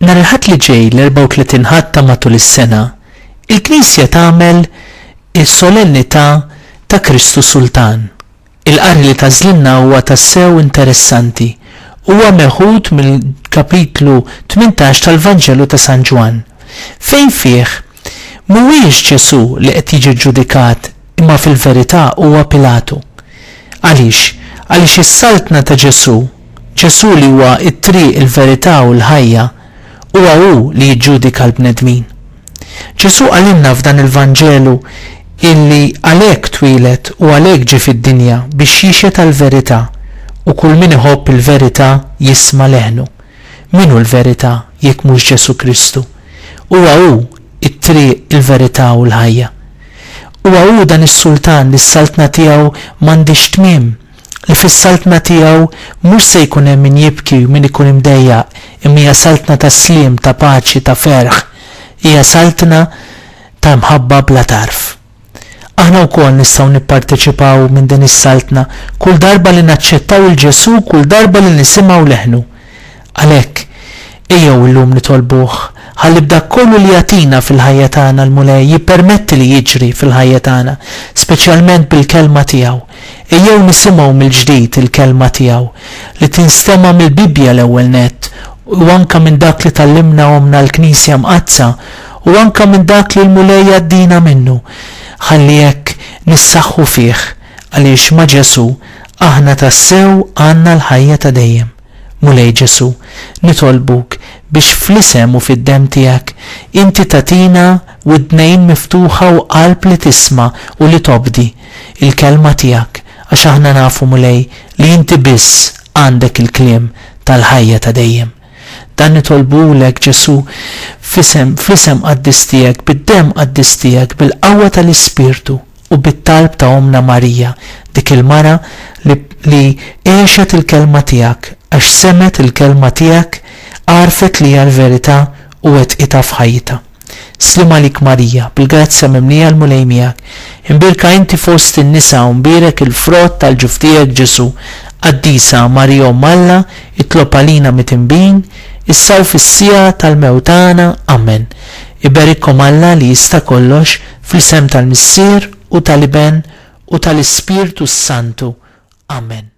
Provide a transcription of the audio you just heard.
Nhar il-Ħadd li ġej, l-34 Ħadd ta' matul is-sena, il-Knisja tagħmel is-Solennità ta' Kristu Sultan. Il-qari li tagħżlilna huwa tassew interessanti. Huwa meħud mill-kapitlu 18 tal-Vanġelu ta' San Ġwann, fejn fih mhuwiex Ġesù li qed jiġi ġġudikat imma fil-verità huwa Pilatu. Għaliex? Għaliex is-saltna ta' Ġesù, Ġesù li huwa t-triq, il-verità u l-ħajja, huwa hu li jiġġudika l-bnedmin. Ġesù qalilna f'dan il-Vanġelu illi għalhekk twieled u għalhekk ġie fid-dinja biex jixhed għall-verità u kull min iħobb il-verità jisma' leħnu. Min hu l-verità jekk mhux Ġesù Kristu? Huwa hu t-triq, il-verità u l-ħajja. Huwa hu dan is-Sultan li s-saltna tiegħu m'għandhiex tmiem, li fis-saltna tiegħu mhux se jkun hemm min jibki u min ikun imdejjaq, imma hija saltna ta' sliem, ta' paċi, ta' ferħ. Hija saltna ta' mħabba bla tarf. Aħna wkoll nistgħu nipparteċipaw minn din is-saltna kull darba li naċċettaw 'il Ġesù kull darba li nisimgħu leħnu. Għalhekk, ejjew illum nitolbuh ħalli b'dak kollu li jagħtina fil-ħajja tagħna l-Mulej jippermetti li jiġri fil-ħajja tagħna, speċjalment bil-Kelma tiegħu. Ejjew nisimgħu mill-ġdid il-Kelma tiegħu, li tinstema' mill-Bibbja l-ewwel nett u anke minn dak li tgħallimna Ommna l-Knisja Mqaddsa u anke minn dak li l-Mulej jgħaddina minnu, ħalli hekk nissaħħu fih għaliex ma' Ġesù aħna tassew għandna l-ħajja ta' dejjem. Mulej Ġesù, nitolbuk biex fl-isem u fid-demm tiegħek inti tagħtina widnejn miftuħa u qalb li tisma' u li tobdi l-kelma tiegħek għax aħna nafu Mulej li inti biss għandek il-kliem tal-ħajja ta' dejjem. Dan nitolbuhulek Ġesù f'isem fl-isem qaddis tiegħek, bid-demm qaddis tiegħek, bil-qawwa tal-Ispirtu u bit-talb ta' Ommna Marija, dik il-mara li li għexet il-kelma tiegħek, għax semgħet il-kelma tiegħek, għarfet li hija l-verità u wettqitha f'ħajjitha. Sliem għalik Marija, bil-grazzja mimlija l-Mulej miegħek. Imbierka inti fost in-nisa u mbierek il-frott tal-ġuf tiegħek Ġesù. Qaddisa Marija Omm Alla, itlob għalina mitinbin, issa u fis-siegħa tal-mewt tagħna. Amen. Iberikkom Alla li jista' kollox, fl-isem tal-Missier u tal-Iben u tal-Ispirtu s-Santu. Amen.